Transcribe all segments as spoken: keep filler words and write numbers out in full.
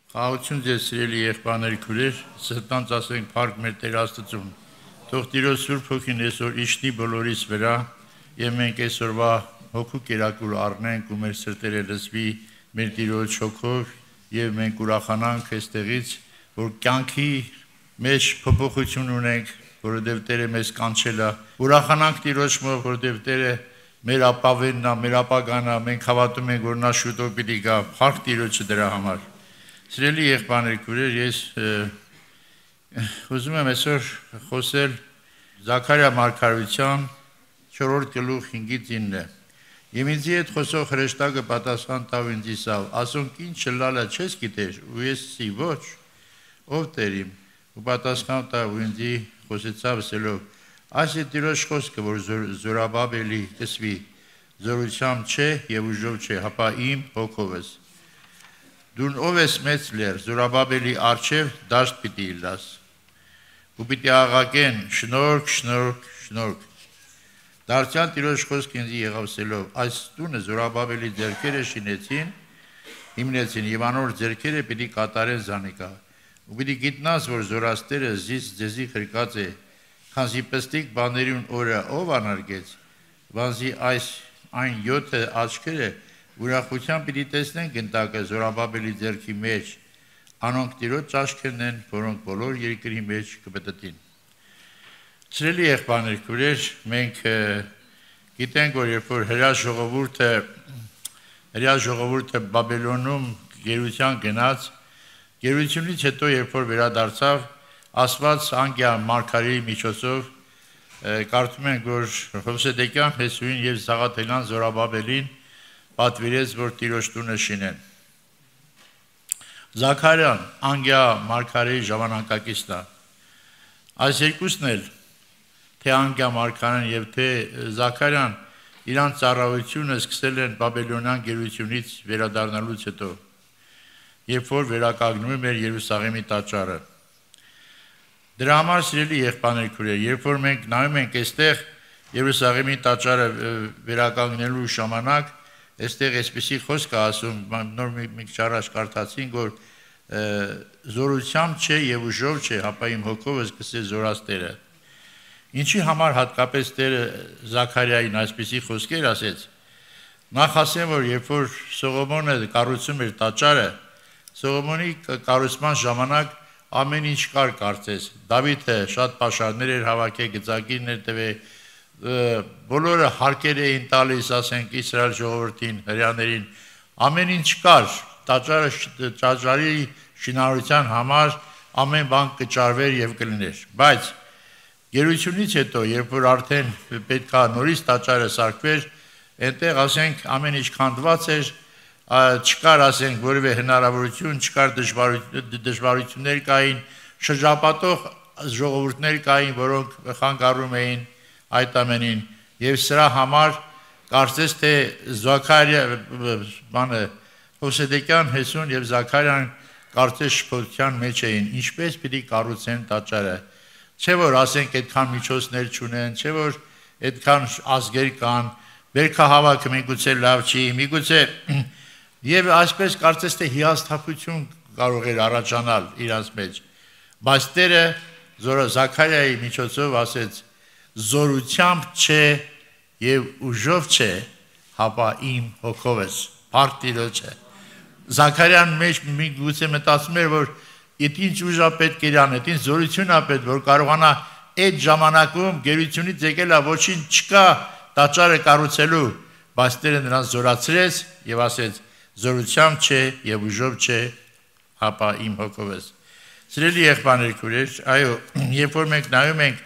Խաղաղություն ձեզ սիրելի եղբայրներ, քույրեր, սրտանց ասենք փառք մեր Տեր Աստծուն։ Թող Տիրոջ Սուրբ Հոգին այսօր իջնի բոլորիս վրա, եւ մենք այսօրվա հոգու կերակուր առնենք ու մեր սրտերը լսվի մեր Տիրոջ հոգով, եւ մենք ուրախանանք այստեղից, որ կյանքի մեջ փոփոխություն ունենք, որովհետեւ Տերը մեզ կանչել է։ Ուրախանանք Տիրոջ մոտ, որովհետեւ Տերը մեր ապավենն է, մեր ապագան է, մենք հավատում ենք, որ նա շուտով պիտի գա։ Փառք Տիրոջը դրա համար։ Սիրելի եղբայրներ, քույրեր, ես ուզում եմ այսօր խոսել Զաքարիա մարգարեության չորրորդ գլուխ հինգից ինը։ Եվ ինձի հետ խոսող հրեշտակը պատասխան տավ ինձ իսավ, ասոնք ինչ լալա չես գիտեր, ու ես սի ոչ, ով Տեր իմ, ու պատասխան տավ ու ինձի խոսեցավ ասելով, այս է Տիրոջ խոսքը, որ Զորաբաբելի կսվի, զորությամբ չէ եւ ուժով չէ, հապա իմ հոգովս։ Դուն ով ես մեծ լեր, Զորաբաբելի արջև դաշտ պիտի իլաս, ու պիտի աղաղեն շնորհք, շնորհք, շնորհք։ Դարձյալ Տիրոջ խոսքը ինձ եղավ ասելով, այս տունը Զորաբաբելի ձեռքերը շինեցին, հիմնեցին եւ անոր ձեռքերը պիտի կատարեն զանիկա։ Ու պիտի գիտնաս, որ զորաստերը զիս ձեզի խրկած է, քանզի պստիկ բաներուն օրը ով անարգեց, բանզի այս այն յոթը աչքերը ուրախությամբ պիտի տեսնենք ընտակը Զորաբաբելի ձեռքի մեջ, անոնք Տիրոջ ճաշքերն են, որոնք բոլոր երկրի մեջ կպտտին։ Սիրելի եղբայրներ, քույրեր, մենք գիտենք, որ երբ որ հրեա ժողովուրդը հրեա ժողովուրդը Բաբելոնում գերության գնաց, գերությունից հետո երբ որ վերադարձավ, Աստված անգիա մարգարեի միջոցով կարդում ենք, որ Հովսեդեկյան Հեսուին եւ Սաղաթելյան Զորաբաբելին պատվիրեց, որ Տիրոջ տունը շինեն։ Զաքարիան անգիա մարգարեի ժամանակակիցն է։ Այս երկուսն էլ թե անգիա մարգարեն եւ թե Զաքարիան իրանց ծառայությունը սկսել են Բաբելոնյան գերությունից վերադառնալուց հետո, երբ որ վերականգնում էր Երուսաղեմի տաճարը։ Դրա համար սիրելի եղբայրներ, քույրեր, երբ որ մենք նայում ենք այստեղ Երուսաղեմի տաճարը վերականգնելու ժամանակ, այստեղ այսպեսի խոսք է ասում, նոր մի քիչ առաջ կարդացինք, որ զորությամբ չէ եւ ուժով չէ, հապա իմ հոգովս կսե զորաստերը։ Ինչի համար հատկապես Տերը Զաքարիային այսպեսի խոսքեր ասեց։ Նախ ասեմ, որ երբ որ Սողոմոնը կառուցում էր տաճարը, Սողոմոնի կառուցման ժամանակ ամեն ինչ կար կարծես։ Դավիթը շատ պաշարներ էր հավաքել, գծակիրներ տվել, բոլորը հարկեր էին տալիս, ասենք Իսրայել ժողովրդին, հրեաներին, ամեն ինչ կար, տաճարը տաճարի շինարարության համար ամեն բան կճարվեր եւ կլիներ, բայց գերությունից հետո, երբ որ արդեն պետքա նորից տաճարը սարքվեր, այնտեղ ասենք ամեն ինչ քանդված էր, չկար ասենք որևէ հնարավորություն, չկար դժվարություններ կային, շրջապատող ժողովուրդներ կային, որոնք խանգարում էին այդ ամենին, եւ սրա համար կարծես թե Զաքարիա բանը Հովսեդեկյան Հեսուն եւ Զաքարիան կարծես շփոթության մեջ էին, ինչպես պիտի կառուցեն տաճարը։ Չէ որ ասենք այդքան միջոցներ չունեն, չէ որ այդքան ազգեր կան, բերքահավաքը միգուցե լավ չի, միգուցե եւ այսպես կարծես թե հիասթափություն կարող էր առաջանալ իրանց մեջ, բայց Տերը Զաքարիայի միջոցով ասեց. զորությամբ չէ եւ ուժով չէ, հապա իմ հոգովս, փառք Տիրոջը։ Զաքարիան մեջ միգուցե մտածում էր, որ այդ ինչ ուժ է պետք իրան, այդ ինչ զորություն է պետք, որ կարողանա այդ ժամանակում գերությունից եկել է, ոչինչ չկա տաճարը կառուցելու, բայց Տերը նրան զորացրեց եւ ասեց. զորությամբ չէ եւ ուժով չէ, հապա իմ հոգովս։ Սիրելի եղբայրներ, քույրեր, այո, երբ որ մենք նայում ենք,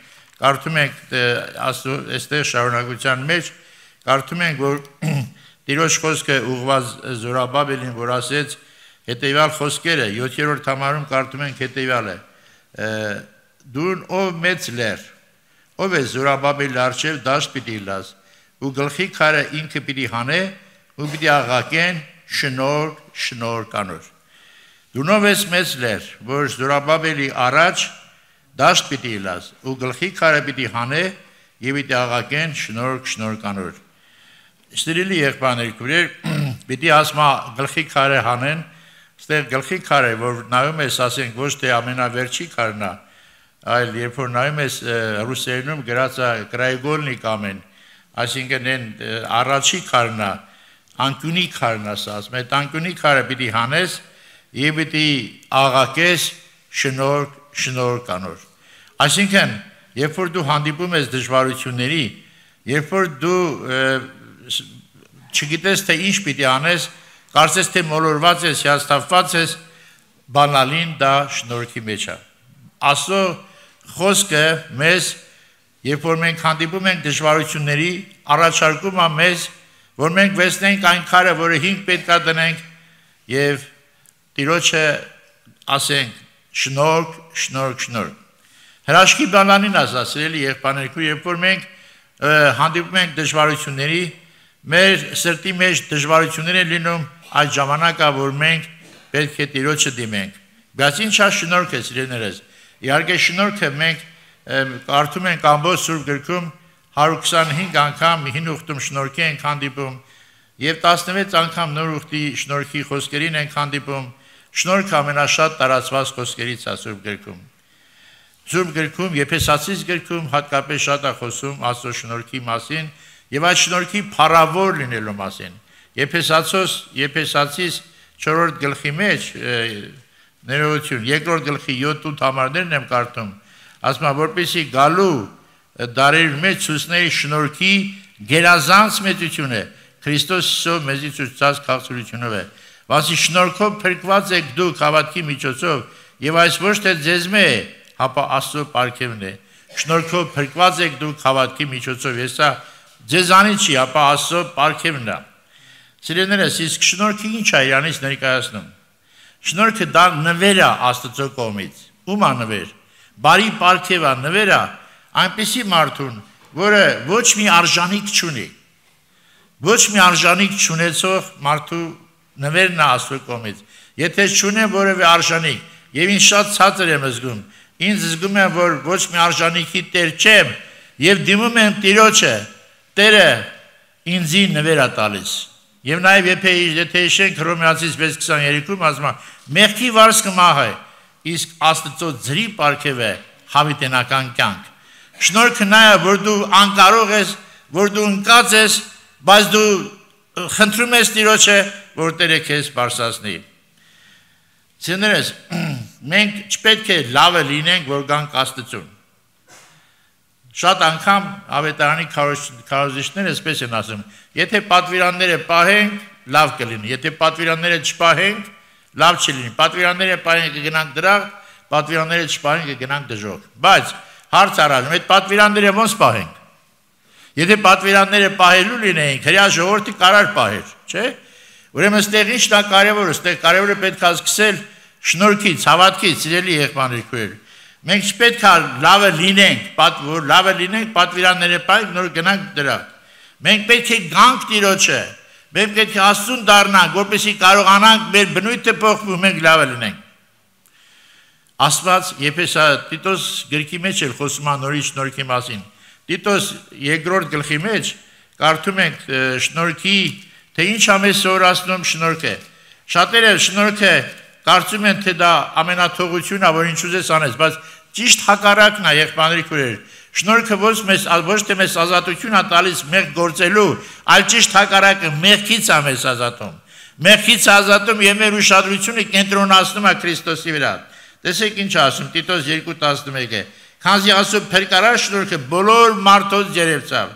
կարդում ենք այստեղ շարունակության մեջ, կարդում ենք, որ Տիրոջ խոսքը ուղղված Զորաբաբելին, որ ասեց հետեւյալ խոսքերը, յոթերորդ համարում կարդում ենք հետեւյալը. դուն ով մեծ լեր, ով է Զորաբաբելի արջև դաշտ պիտի լաս, ու գլխի քարը ինքը պիտի հանե, ու պիտի աղաղեն շնորհք, շնորհք անոր։ Դու ով ես մեծ լեր, որ Զորաբաբելի առաջ դաշտ պիտի լաս, ու գլխի քարը պիտի հանե, եւ պիտի աղաղեն շնորհք, շնորհք անոր։ Սիրելի եղբայրներ, քույրեր, պիտի ասма գլխի քարը հանեն, Ստեղ գլխի քարը, որ նայում ես, ասենք, ոչ թե ամենավերջի քարն է, այլ երբ որ նայում ես ռուսերենում գրած է կրայգոլնի կամեն, այսինքն այն առաջի քարն է, անկյունի քարն է, ասում, այդ անկյունի քարը պիտի հանես եւ պիտի աղակես շնորհ, շնորհ կանոր։ Այսինքն, երբ որ դու հանդիպում ես դժվարությունների, երբ որ դու չգիտես թե ինչ պիտի անես, կարծես թե մոլորված ես, հիասթափված ես, բանալին դա շնորհքի մեջ է։ Աստծո խոսքը մեզ, երբ որ մենք հանդիպում ենք դժվարությունների, առաջարկում է մեզ, որ մենք վերցնենք այն քարը, որը հիմք պետք է դնենք եւ Տիրոջը ասենք շնորհք, շնորհք, շնորհք։ Հրաշքի բանալին ասացրելի եղբայրներու, երբ որ մենք հանդիպում ենք դժվարությունների, մեր սրտի մեջ դժվարություններ են լինում, այդ ժամանակա, որ մենք պետք է Տիրոջը դիմենք։ Բայց ինչ է շնորհքը, սիրելիներս։ Իհարկե շնորհքը մենք կարդում ենք ամբողջ Սուրբ գրքում հարյուր քսանհինգ անգամ հին ուխտում շնորհքի ենք հանդիպում եւ տասնվեց անգամ նոր ուխտի շնորհքի խոսքերին ենք հանդիպում։ Շնորհքը ամենաշատ տարածված խոսքերից է Սուրբ գրքում։ Սուրբ գրքում Եփեսացիս գրքում հատկապես շատ է խոսում Աստծո շնորհքի մասին եւ այդ շնորհքի փառավոր լինելու մասին։ Եփեսացոս Եփեսացիս չորրորդ գլխի մեջ ներողություն երկրորդ գլխի յոթ-ութ համարներն եմ կարդում, ասում է որպեսզի գալու դարեր մեջ ցույցների շնորհքի գերազանց մեծությունը Քրիստոս Հիսուսով մեզի ցույցած քաղցրությունով է։ Վասի շնորհքով փրկված եք դուք հավատքի միջոցով եւ այս ոչ թե ձեզմե է, հապա Աստծո պարգևն է։ Շնորհքով փրկված եք դուք հավատքի միջոցով, եսա ձեզանից չի, հապա Աստծո պարգևն է։ Սիրելիներս, իսկ շնորհքը ինչ է իրանից ներկայացնում։ Շնորհքը դա նվեր է Աստծո կողմից։ Ում է նվեր։ Բարի պարգև է, նվեր է այնպիսի մարդուն, որը ոչ մի արժանիք չունի։ Ոչ մի արժանիք չունեցող մարդու նվերն է Աստծո կողմից։ Եթե չունեմ որևէ արժանիք, եւ ինձ շատ ցածր եմ զգում, ինձ զգում եմ, որ ոչ մի արժանիքի տեր չեմ, եւ դիմում եմ Տիրոջը, Տերը ինձի նվեր է տալիս։ Եվ նաեւ եթե հիշենք Հռոմեացիս վեց քսաներեքում ասում է, մեղքի վարձքը մահ է, իսկ Աստծո ձրի պարգև է հավիտենական կյանք։ Շնորհքը նա է, որ դու անկարող ես, որ դու ընկած ես, բայց դու խնդրում ես Տիրոջը, որ Տերը քեզ բարձրացնի։ Սիրելիներս, մենք չպետք է լավը լինենք, որ գանք Աստծուն։ Շատ անգամ ավետարանի քարոզիչները այսպես են ասում, եթե պատվիրանները պահենք, լավ կլինի, եթե պատվիրանները չպահենք, լավ չլինի։ Պատվիրանները պահենք կգնանք դրախտ, պատվիրանները չպահենք կգնանք դժոխք։ Բայց հարց առնում, այդ պատվիրանները ոնց պահենք։ Եթե պատվիրանները պահելու լինեին, հրյա ժողովրդի կարար պահեր, չէ՞։ Ուրեմն ստեղ ի՞նչն է կարևորը, ստեղ կարևորը պետք է սկսել շնորհքից, հավատքից, սիրելի եղբայրներ։ Մենք չպետք է լավը լինենք, որ լավը լինենք, պատվիրանները պահենք, նոր գնանք դրախտ։ Մենք պետք է գանք Տիրոջը, մենք պետք է Աստծուն դառնանք, որպեսզի կարողանանք մեր բնույթը փոխել, մենք լավը լինենք։ Աստված Եփեսա Տիտոս գրքի մեջ էլ խոսում է նորից շնորհքի մասին։ Տիտոս երկրորդ գլխի մեջ կարդում ենք շնորհքի, թե ինչ է մեզ սովորացնում շնորհքը։ Շատերը շնորհքը կարծում են, թե դա ամենաթողությունն է, որ ինչ ուզես անես, բայց ճիշտ հակառակն է, եղբայրների քույրեր։ Շնորհքը ոչ մեզ ոչ թե մեզ ազատություն է տալիս մեղք գործելու, այլ ճիշտ հակառակը մեղքից է մեզ ազատում։ Մեղքից ազատում եւ մեր ուշադրությունը կենտրոնացնում է Քրիստոսի վրա։ Տեսեք ինչ ասում Տիտոս երկու տասնմեկը։ Քանզի Աստծո փրկարար շնորհքը բոլոր մարդոց ջերևցավ,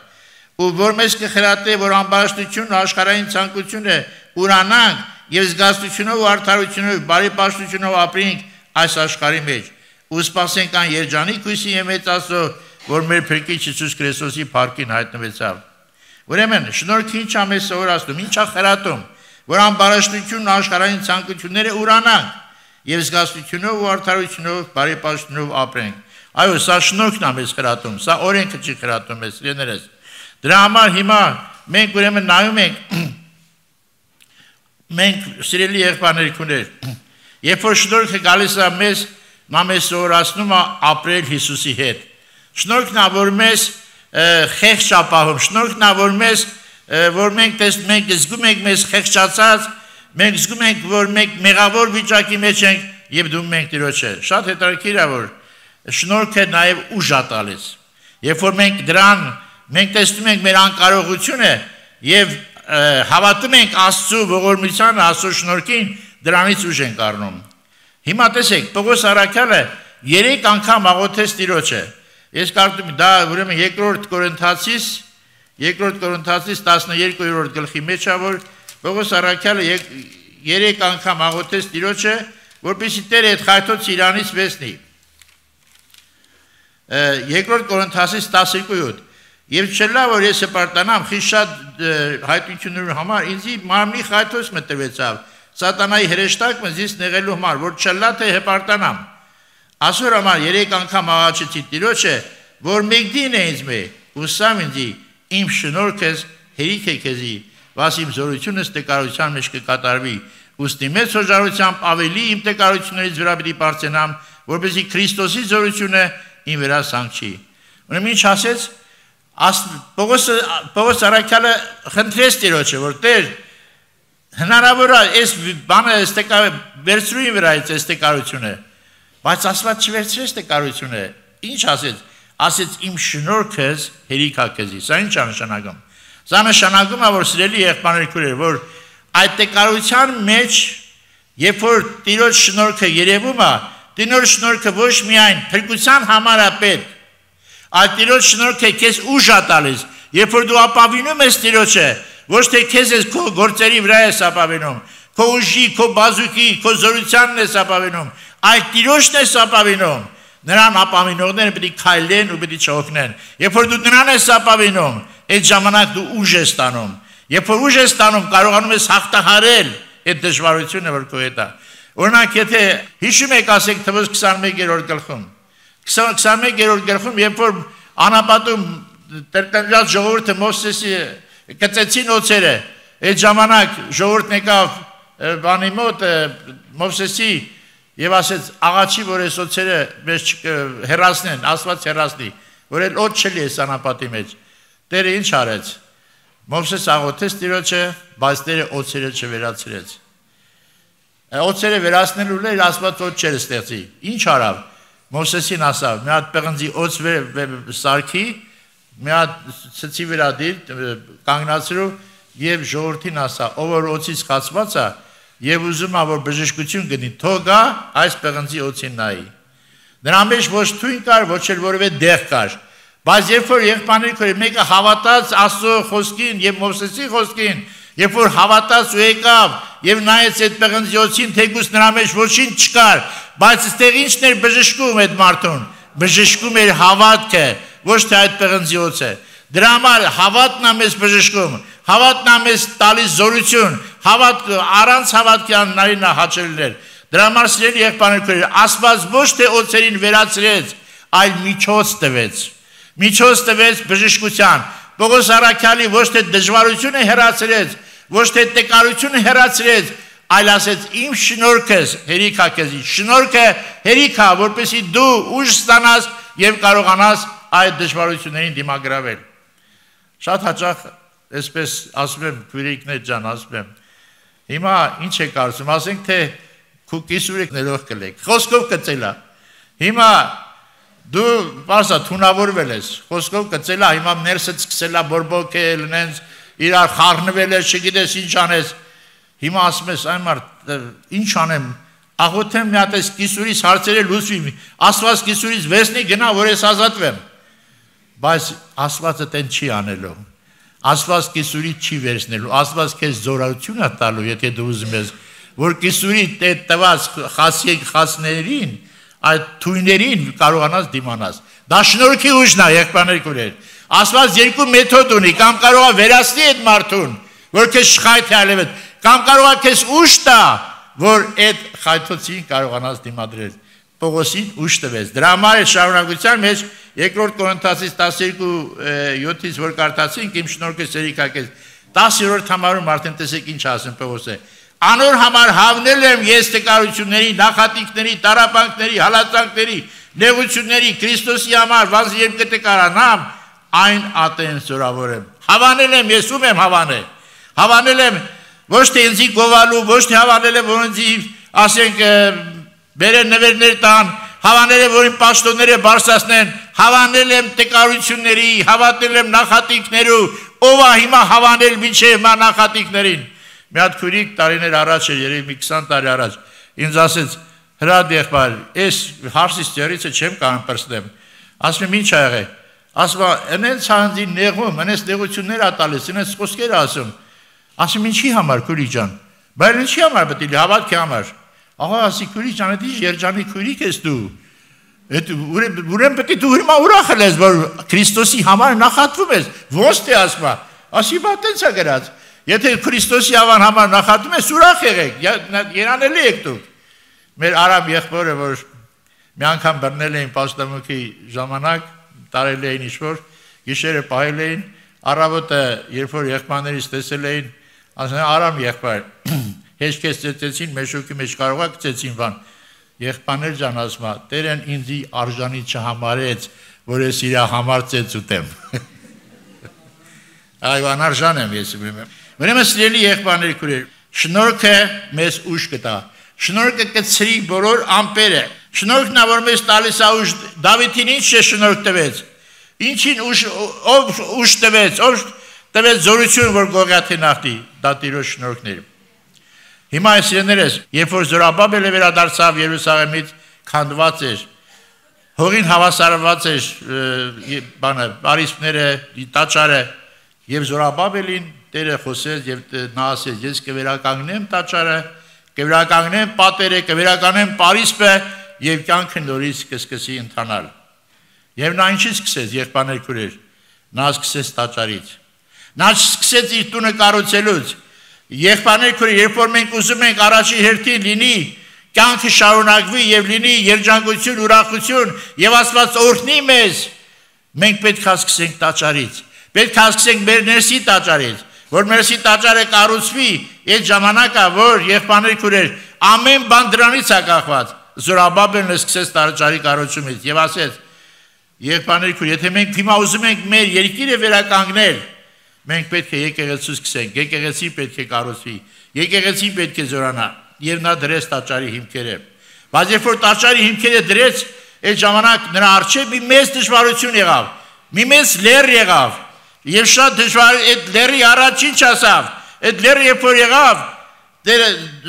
ու որ մեզ կխրատե, որ ամբարաշտությունն ու աշխարհային ցանկությունը ուրանանք եւ զգաստությունով ու արդարությունով, բարի պաշտությունով ապրենք այս աշխարհի մեջ, ու սպասենք այն երջանիկ հույսի եւ մեծ Աստծո, որ մեր Փրկիչ Հիսուս Քրիստոսի փառքին հայտնվեցավ։ Ուրեմն շնորհքը ինչ է մեզ սովորացնում, ինչ է խրատում, որ ամբարաշտությունն ու աշխարհային ցանկությունները ուրանանք եւ զգաստությունով ու արդարությունով, բարի պաշտությունով ապրենք։ Այո, սա շնորհքն է մեզ խրատում, սա օրենքը չի խրատում մեզ, սիրելիներս։ Դրա համար հիմա մենք ուրեմն նայում ենք մենք սիրելի եղբայրներ, երբ որ շնորհքը գալիս է մեզ, նա մեզ սովորացնում է ապրել Հիսուսի հետ։ Շնորհքն է, որ մեզ խեղճ ապահում, շնորհքն է, որ մեզ որ մենք մենք զգում ենք մեզ խեղճացած, մենք զգում ենք, որ մենք մեղավոր վիճակի մեջ ենք եւ դու մենք Տիրոջը։ Շատ հետաքրքիր է, որ շնորհքը նաեւ ուժ է տալիս։ Երբ որ մենք դրան մենք տեսնում ենք մեր անկարողությունը եւ հավատում ենք Աստծո ողորմությանը, Աստծո շնորհքին, դրանից ուժ ենք առնում։ Հիմա տեսեք, Պողոս առաքյալը երեք անգամ աղոթեց Տիրոջը։ Ես կարծում եմ դա ուրեմն երկրորդ Կորինթացիս, երկրորդ Կորինթացիս տասներկուերորդ գլխի մեջ է, որ Պողոս առաքյալը երեք անգամ աղոթեց Տիրոջը, որպեսզի Տերը այդ խայթոց իրանից վերցնի։ Երկրորդ Կորինթացիս տասներկու Եվ չլա, որ ես հպարտանամ, խիստ շատ հայտնությունների համար, ինձ մարմնի խայթոց մտրվեցավ, սատանայի հրեշտակ ինձ նեղելու համար, որ չլա թե հպարտանամ։ Այսօր համար երեք անգամ աղաչեցի Տիրոջը, որ մեկդին է ինձ մե, ուսամ ինձ իմ շնորհքս հերիք է քեզի, վաս իմ զորությունս տկարության մեջ կկատարվի, ուստի մեծ հոժարությամբ ավելի իմ տկարություններից վրա պիտի պարծենամ, որպեսզի Քրիստոսի զորությունը իմ վրա սանքչի։ Ուրեմն ինչ ասեց Պողոս առաքյալը խնդրեց Տիրոջը, որ Տեր հնարավոր է այս բանը վերցրու իմ վրայից այս տկարությունը, բայց Աստված չվերցրեց տկարությունը։ Ինչ ասեց։ Ասեց իմ շնորհքս հերիք է քեզի։ Սա ինչ է նշանակում։ Սա նշանակում է, որ սիրելի եղբայրներ քույրեր, որ այդ տկարության մեջ, երբ որ Տիրոջ շնորհքը երևում է, Տիրոջ շնորհքը ոչ միայն փրկության համար է պետք, այլ Տիրոջ շնորհքը քեզ ուժ է տալիս, երբ որ դու ապավինում ես Տիրոջը, ոչ թե քեզ ես քո գործերի վրա ես ապավինում, քո ուժի, քո բազուկի, քո զորությանն ես ապավինում, այլ Տիրոջն ես ապավինում, նրան ապավինողները պետք է քայլեն ու պետք է չօգնեն։ Երբ որ դու նրան ես ապավինում, այդ ժամանակ դու ուժ ես ստանում։ Երբ որ ուժ ես ստանում, կարողանում ես հաղթահարել այդ դժվարությունը, որ քո հետ է։ Օրինակ, եթե հիշում եք, ասենք Թվոց քսաներկերորդ գլխում, քսաներկերորդ գլխում, երբ որ անապատում տրտնջած ժողովուրդը Մովսեսի կծեցին օձերը, այդ ժամանակ ժողովուրդն եկավ բանի մոտ Մովսեսի եւ ասեց աղաչի, որ այս օձերը մեզ հեռացնեն, Աստված հեռացնի, որ էլ օձ չլի այս անապատի մեջ։ Տերը ինչ արեց։ Մովսես աղոթեց Տիրոջը, բայց Տերը օձերը չվերացրեց։ Օձերը վերացնելու լեր Աստված օձ չեր ստեղծի։ Ինչ արավ։ Մովսեսին ասավ, մի հատ պղնձի օձ սարքի, մի հատ ցցի վրա դիր կանգնացրու եւ ժողովրդին ասա, ով որ օձից խացված է եւ ուզում է որ բժշկություն գնի, թող գա այս պղնձի օձին նայի։ Դրա մեջ ոչ թույն կար, ոչ էլ որևէ դեղ կար։ Բայց երբ որ եղբայրները մեկը հավատաց Աստծո խոսքին եւ Մովսեսի խոսքին, երբ որ հավատաց ու եկավ եւ նայեց այդ պղնձի օձին, թեկուզ նրա մեջ ոչինչ չկար, բայց այստեղ ինչն էր բժշկում այդ մարդուն։ Բժշկում էր հավատքը, ոչ թե այդ պղնձի օձը։ Դրա համար հավատն է մեզ բժշկում, հավատն է մեզ տալիս զորություն, հավատ առանց հավատքի անհնարին է հաճելներ։ Դրա համար սիրելի եղբայրներ, Աստված ոչ թե օձերին վերացրեց, այլ միջոց տվեց։ Միջոց տվեց բժշկության։ Պողոս առաքյալի ոչ թե դժվարությունը հեռացրեց, ոչ թե տկարությունը հեռացրեց, այլ ասեց իմ շնորհքս հերիք է քեզի։ Շնորհքը հերիք է, որպեսզի դու ուժ ստանաս եւ կարողանաս այդ դժվարություններին դիմագրավել։ Շատ հաճախ այսպես ասում եմ, քույրիկներ ջան, ասում եմ, հիմա ինչ է կարծում, ասենք թե քու կիսուրեք ներող կլեք, խոսքով կծելա։ Հիմա դու բարձա թունավորվել ես, խոսքով կծելա, հիմա ներսդ սկսելա բորբոքել, նենց իրար խառնվել ես, չգիտես ինչ անես։ Հիմա ասում ես, այն մարդ, ինչ անեմ, աղոթեմ մի հատ այս կիսուրից հարցերը լուծվի, Աստված կիսուրից վերցնի գնա, որ ես ազատվեմ։ Բայց Աստվածը տեն չի անելու։ Աստված կիսուրից չի վերցնելու, Աստված քեզ զորություն է տալու, եթե դու ուզում ես, որ կիսուրի տված խասներին, այդ թույներին կարողանաս դիմանաս։ Դա շնորհքի ուժն է, եղբայրներ քույրեր։ Աստված երկու մեթոդ ունի, կամ կարող է վերացնի այդ մարդուն, որ քեզ շղայթ է ալեվել, կամ կարող է քեզ ուժ տա, որ այդ խայթոցին կարողանաս դիմադրել։ Պողոսին ուժ տվեց։ Դրա համար է շարունակության մեջ երկրորդ Կորինթացիս տասներկու յոթից որ կարդացինք, իմ շնորհքը հերիք է քեզ, տասերորդ համարում արդեն տեսեք ինչ ասում Պողոսը։ Անոր համար հավնել եմ ես տկարությունների, նախատինքների, տառապանքների, հալածանքների, նեղությունների Քրիստոսի համար, վասն երբ կտկարանամ, այն ատեն զորավոր եմ։ Հավանել եմ, ես ում եմ հավանել։ Հավանել եմ ոչ թե ինձի գովալու, ոչ թե հավանել է, որ ինձի ասենք բերեն նվերներ տան, հավանել եմ, որ իմ պաշտոնները բարձրացնեն, հավանել եմ տկարությունների, հավատել եմ նախատինքներու, ով է հիմա հավանել մինչև մա նախատինքներին։ Մի հատ քույրիկ տարիներ առաջ էր, երևի մի քսան տարի առաջ, ինձ ասեց, հրադ եղբայր, այս հարսից ծերիցը չեմ կարող պրծնեմ։ Ասում եմ, ինչ ա եղել։ Ասում եմ, այնց հանձի նեղում, այնց նեղություններ ա տալիս, այնց խոսքեր ասում։ Ասում եմ, ինչի համար քույրիկ ջան։ Բայց ինչի համար պետք է հավատքի համար։ Ահա ասի քույրիկ ջան, դա երջանի քույրիկ ես դու։ Այդ ուրեմն պետք է դու հիմա ուրախ ես, որ Քրիստոսի համար նախատվում ես։ Ոնց թե ասма։ Ասի բա տենց է գրած։ Եթե Քրիստոսի համար նախատվում ես, ուրախ եղեք, երանելի եք դուք։ Մեր Արամ եղբորը, որ մի անգամ բռնել էին պաշտամունքի ժամանակ, տարել էին ինչ-որ, գիշերը պահել էին, առավոտը, երբ որ եղբայրներից տեսել էին, ասել են Արամ եղբայր, հեչքես ծեծեցին, մեջոքի մեջ կարողա կծեցին բան, եղբայրներ ջան ասում, Տերն ինձի արժանի չհամարեց, որ ես իր համար ծեծ ուտեմ։ Այո, անարժան եմ ես իմեմ։ Ուրեմն սիրելի եղբայրներ քույրեր, շնորհքը մեզ ուժ կտա։ Շնորհքը կցրի բոլոր ամպերը։ Շնորհքն որ մեզ տալիս է ուժ, Դավիթին ինչ է շնորհք տվեց։ Ինչին ուժ ով ուժ տվեց, ով տվեց զորություն, որ Գողիաթի նախտի, դա Տիրոջ շնորհքն էր։ Հիմա սիրելիներս, երբ որ Զորաբաբելը վերադարձավ Երուսաղեմից, քանդված էր, հողին հավասարված էր բանը, բարիսպները, տաճարը, եւ Զորաբաբելին Տերը խոսեց եւ նա ասեց, ես կվերականգնեմ տաճարը, կվերականգնեմ պատերը, կվերականգնեմ Պարիսպը եւ կյանքը նորից կսկսի ընթանալ։ Եվ նա ինչից սկսեց, եղբայրներ քույրեր, նա սկսեց տաճարից։ Նա սկսեց իր տունը կառուցելուց։ Եղբայրներ քույրեր, երբ որ մենք ուզում ենք առաջի հերթին լինի կյանքը շարունակվի եւ լինի երջանկություն, ուրախություն եւ Աստված օրհնի մեզ, մենք պետք է սկսենք տաճարից։ Պետք է սկսենք մեր ներսի տաճարից, որ ներսի տաճարը կառուցվի, այդ ժամանակը, որ եղբայրներ քույրեր, ամեն բան դրանից է կախված։ Զորաբաբելն սկսեց տաճարի կառուցումից եւ ասեց. Եղբայրներ քույր, եթե մենք հիմա ուզում ենք մեր երկիրը վերականգնել, մենք պետք է եկեղեցու սկսենք, եկեղեցին պետք է կառուցվի, եկեղեցին պետք է զորանա, եւ նա դրեց տաճարի հիմքերը։ Բայց երբ որ տաճարի հիմքերը դրեց, այդ ժամանակ նրա առջև մի մեծ դժվարություն եղավ, մի մեծ լեռ եղավ, եւ շատ դժվար այդ լեռի առաջ ինչ ասավ, այդ լեռը երբ որ եղավ,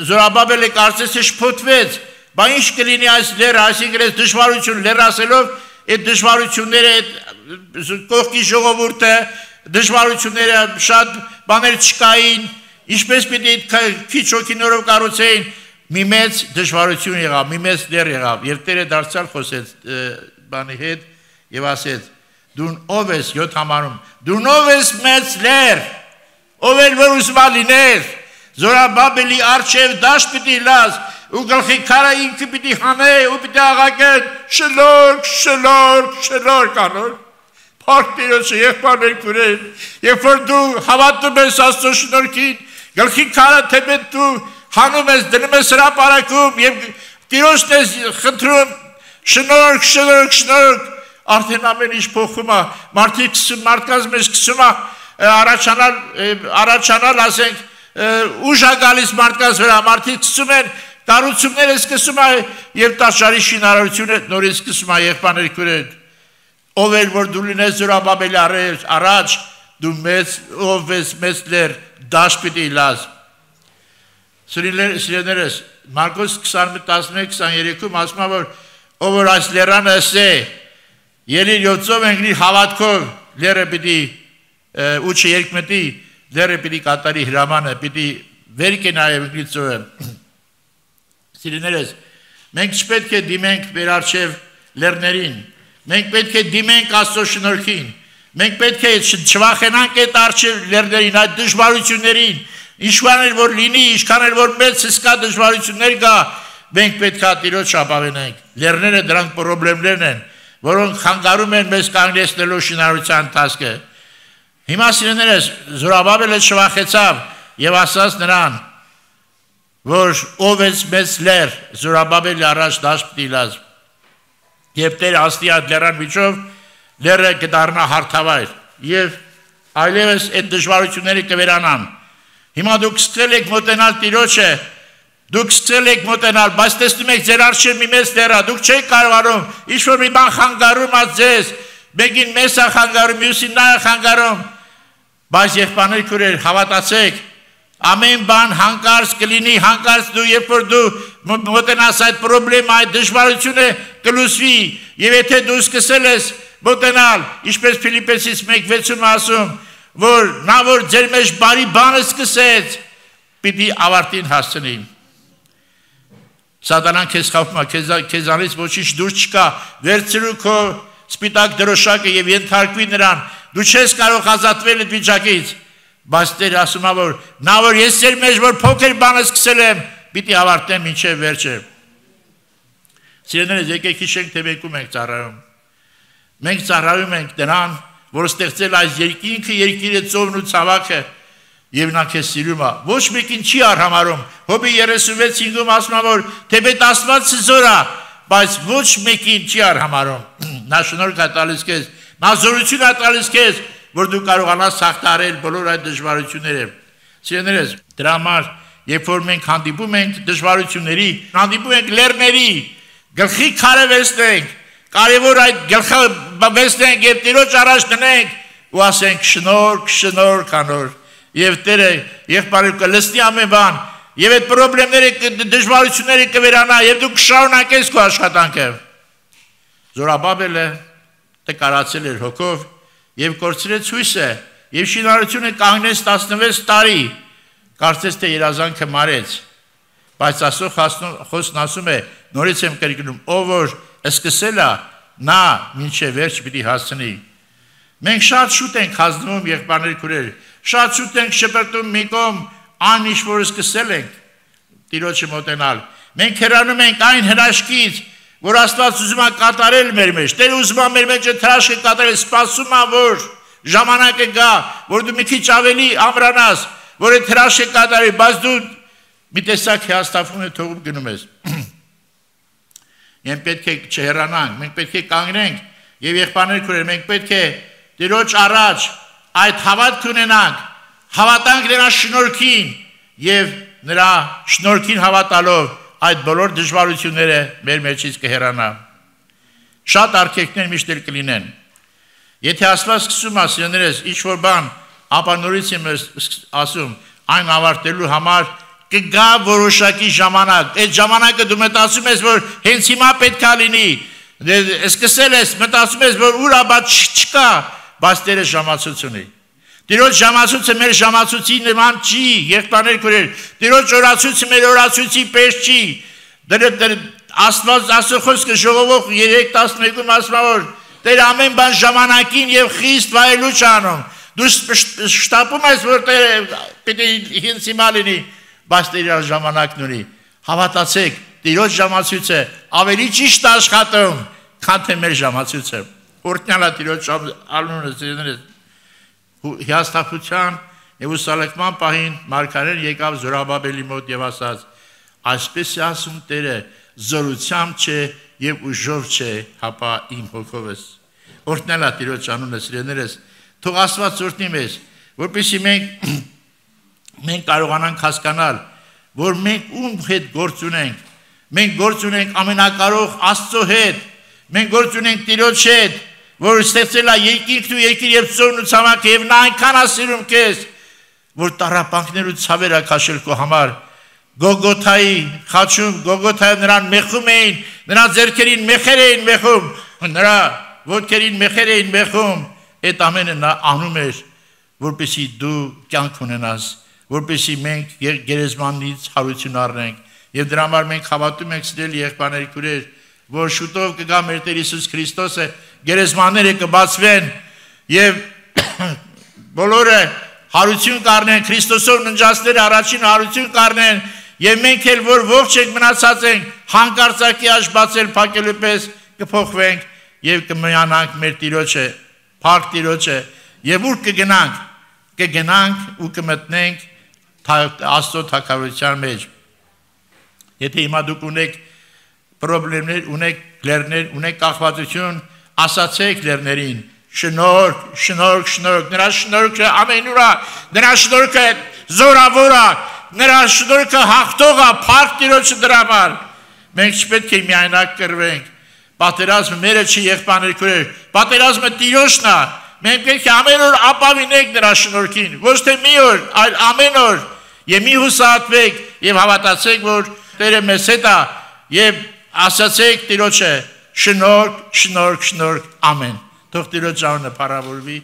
Զորաբաբելը կարծես թե շփոթվեց, բա ինչ կլինի այս լեռը, այսինքն այս դժվարություն լեռ ասելով, այդ դժվարությունները, այդ կողքի ժողովուրդը, դժվարությունները շատ բաներ չկային, ինչպես պիտի քիչ հոգիներով կառուցեին, մի մեծ դժվարություն եղավ, մի մեծ լեռ եղավ, եւ Տերը դարձյալ խոսեց բանի հետ եւ ասեց. Դու ով ես յոթ համարում, դու ով ես մեծ լեռ, ով էլ որ ուզում լիներ, Զորաբաբելի առջև դաշտ պիտի լաս, ու գլխի քարը ինքը պիտի հանե, ու պիտի աղաղեն, շլորք, շլորք, շլորք անոր։ Փառք Տիրոջը, եղբայրներ քույրեր, երբ որ դու հավատում ես Աստծո շնորհքին, գլխի քարը թեպետ դու հանում ես, դնում ես հրապարակում եւ Տիրոջն ես խնդրում, շնորհք, շնորհք, շնորհք, արդեն ամեն ինչ փոխում է, մարդիկ մարդկանց մեջ սկսում է առաջանալ, առաջանալ, ասենք, ուժ է գալիս մարդկանց վրա, մարդիկ սկսում են կառուցումները սկսում է եւ տաճարի շինարարությունը նորից սկսում է եղբայրներ քույրեր, ով էլ որ դու լինես Զորաբաբելի առաջ, դու մեծ ով ես մեծ լեռ, դաշտ պիտի լաս։ Սիրելիներս, Մարկոս քսանմեկ տասնմեկ քսաներեքում ասում է, որ ով որ այս լեռանը ասե, ելիր յոթով ընկնի հավատքով, լեռը պիտի ուչը երկմտի, լեռը պիտի կատարի հրամանը, պիտի վեր կենայ ընկնի ծովը։ Սիրելիներս, մենք չպետք է դիմենք մեր առջև լեռներին, մենք պետք է դիմենք Աստծո շնորհքին, մենք պետք է չվախենանք այդ առջև լեռներին, այդ դժվարություններին, ինչքան էլ որ լինի, ինչքան էլ որ մեծ հսկա դժվարություններ գա, մենք պետք է Տիրոջ ապավենենք։ Լեռները դրանք խնդիրներն են, որոնք խանգարում են մեզ կանգնեցնելու շինարարության ընթացքը։ Հիմա սիրելիներս, Զորաբաբելը չվախեցավ եւ ասաց նրան, որ ով ես մեծ լեռ, Զորաբաբելի առաջ դաշտ պիտի լաս։ Եվ Տերը աստի այդ լեռան միջով լեռը կդառնա հարթավայր եւ այլևս այդ դժվարությունները կվերանան։ Հիմա դուք սկսել եք մոտենալ Տիրոջը, դուք սկսել եք մոտենալ, բայց տեսնում եք ձեր առջև մի մեծ դեռա, դուք չեք կարողանում, ինչ-որ մի բան խանգարում ա ձեզ, մեկին մեզ ա խանգարում, մյուսին նա ա խանգարում, բայց եղբայրներ քույրեր, հավատացեք, ամեն բան հանկարծ կլինի, հանկարծ դու երբ որ դու մոտենաս այդ պրոբլեմը, այդ դժվարությունը կլուծվի, եւ եթե դու սկսել ես մոտենալ, ինչպես Ֆիլիպպեցիս մեկ վեցում ասում, որ նա որ ձեր մեջ բարի բանը սկսեց, պիտի ավարտին հասցնի։ Սատանան քեզ խաբում է, քեզանից ոչինչ դուրս չկա, վերցրու քո սպիտակ դրոշակը եւ ենթարկվի նրան, դու չես կարող ազատվել այդ վիճակից, բայց Տերը ասում է, որ նա որ ես ձեր մեջ որ փոքր բանը սկսել եմ, պիտի ավարտեմ մինչև վերջը։ Սիրելիներ, եկեք հիշենք, թե մենք ում ենք ծառայում։ Մենք ծառայում ենք նրան, որ ստեղծել այս երկինքը, երկիրը, ծովն ու ցավաքը, եւ նա քեզ սիրում է։ Ոչ մեկին չի արհամարում։ Հոբի երեսունվեց հինգում ասում է, որ թեպետ Աստվածը զոր է, բայց ոչ մեկին չի արհամարում։ Նա շնորհք է տալիս քեզ, նա զորություն է տալիս քեզ, որ դու կարողանաս հաղթահարել բոլոր այդ դժվարությունները։ Սիրելիներս, դրա համար, երբ որ մենք հանդիպում ենք դժվարությունների, հանդիպում ենք լեռների, գլխի քարը վերցնենք, կարևոր այդ գլխը վերցնենք եւ Տիրոջ առաջ դնենք ու ասենք շնորհք, շնորհք անոր, եւ Տերը եղբայրը կլսնի ամեն բան, եւ այդ խնդիրները, դժվարությունները կվերանա եւ դու կշարունակես քո աշխատանքը։ Զորաբաբելը տկարացել էր հոգով եւ կորցրեց հույսը եւ շինարարությունը կանգնեց տասնվեց տարի, կարծես թե երազանքը մարեց, բայց Աստծո խոսքն ասում է, նորից եմ կրկնում, ով որ սկսել է, նա մինչև վերջ պիտի հասցնի։ Մենք շատ շուտ ենք հանձնվում, եղբայրներ քույրեր, շատ շուտ ենք շպրտում մի կողմ այն ինչ որ սկսել ենք Տիրոջը մոտենալ։ Մենք հեռանում ենք այն հրաշքից, որ Աստված ուզում է կատարել մեր մեջ։ Տերը ուզում է մեր մեջ հրաշքը կատարել, սպասում է, որ ժամանակը գա, որ դու մի քիչ ավելի ամրանաս, որ այդ հրաշքը կատարի, բայց դու մի տեսակ հիասթափում է թողում գնում ես։ Մենք պետք է չհեռանանք, մենք պետք է կանգնենք եւ եղբայրներ քույրեր, մենք պետք է Տիրոջ առաջ այդ հավատք ունենանք, հավատանք նրա շնորհքին եւ նրա շնորհքին հավատալով այդ բոլոր դժվարությունները մեր մեջից կհեռանա։ Շատ արգելքներ միշտ էլ կլինեն։ Եթե Աստված սկսում է սիրելիներս ինչ-որ բան, ապա նորից եմ ասում, այն ավարտելու համար կգա որոշակի ժամանակ։ Այդ ժամանակը դու մտածում ես, որ հենց հիմա պետք է լինի։ Սկսել ես, մտածում ես, որ ուր ապա չկա, բայց Տերը ժամացույց ունի։ Տիրոջ ժամացույցը մեր ժամացույցի նման չի, եղբայրներ քույրեր, Տիրոջ օրացույցը մեր օրացույցի պես չի։ Աստված Աստծո խոսքը ժողովող երեք տասնմեկում ասում է, որ Տերը ամեն բան ժամանակին եւ խիստ վայելուչ անում։ Դու շտապում ես, որ Տերը պիտի հենց հիմա լինի, բայց Տերը ժամանակն ունի։ Հավատացեք, Տիրոջ ժամացույցը ավելի ճիշտ աշխատում, քան թե մեր ժամացույցը։ Օրհնյալ է Տիրոջ անունը սիրելիներս։ Հիասթափության եւ ուսալեկման պահին մարգարեն եկավ Զորաբաբելի մոտ եւ ասաց. այսպես է ասում Տերը, զորությամբ չէ եւ ուժով չէ, հապա իմ հոգովս։ Օրհնյալ է Տիրոջ անունը սիրելիներս։ Թող Աստված օրհնի մեզ, որպեսզի մենք մենք կարողանանք հասկանալ, որ մենք ում հետ գործ ունենք։ Մենք գործ ունենք ամենակարող Աստծո հետ։ Մենք գործ ունենք Տիրոջ հետ, որ ստեղծել է երկինքն ու երկիր եւ ծովն ու ցամաքը եւ նա այնքան է սիրում քեզ, որ տառապանքներ ու ցավեր է քաշել քո համար։ Գողգոթայի խաչում, Գողգոթայում նրան մեխում էին, նրա ձեռքերին մեխեր էին մեխում, նրա ոտքերին մեխեր էին մեխում։ Այդ ամենը նա անում էր, որպեսզի դու կյանք ունենաս, որպեսզի մենք գերեզմանից հարություն առնենք։ Եվ դրա համար մենք հավատում ենք սիրելի եղբայրներ քույրեր, որ շուտով կգա մեր Տեր Հիսուս Քրիստոսը, գերեզմանները կբացվեն եւ բոլորը հարություն կառնեն, Քրիստոսով ննջածները առաջին հարություն կառնեն եւ մենք էլ որ ողջ ենք մնացած ենք, հանկարծակի աճ բացել փակելու պես կփոխվենք եւ կմիանանք մեր Տիրոջը, փառք Տիրոջը եւ ուր կգնանք, կգնանք ու կմտնենք Աստծո թագավորության մեջ։ Եթե հիմա դուք ունեք պրոբլեմներ, ունեք լեռներ, ունեք կախվածություն, ասացեք լեռներին, շնորհք, շնորհք, շնորհք, նրա շնորհքը ամենուր է, նրա շնորհքը զորավոր է, նրա շնորհքը հաղթող է, փառք Տիրոջը դրա համար։ Մենք չպետք է միայնակ կռվենք։ Պատերազմը մերը չի, եղբայրներ քույրեր, պատերազմը Տիրոջն է։ Մենք պետք է ամեն օր ապավինենք նրա շնորհքին, ոչ թե մի օր, այլ ամեն օր։ Եվ մի հուսահատվեք եւ հավատացեք, որ Տերը մեզ հետ է եւ ասացեք Տիրոջը շնորհք, շնորհք, շնորհք, ամեն։ Թող Տիրոջ անունը փառավորվի։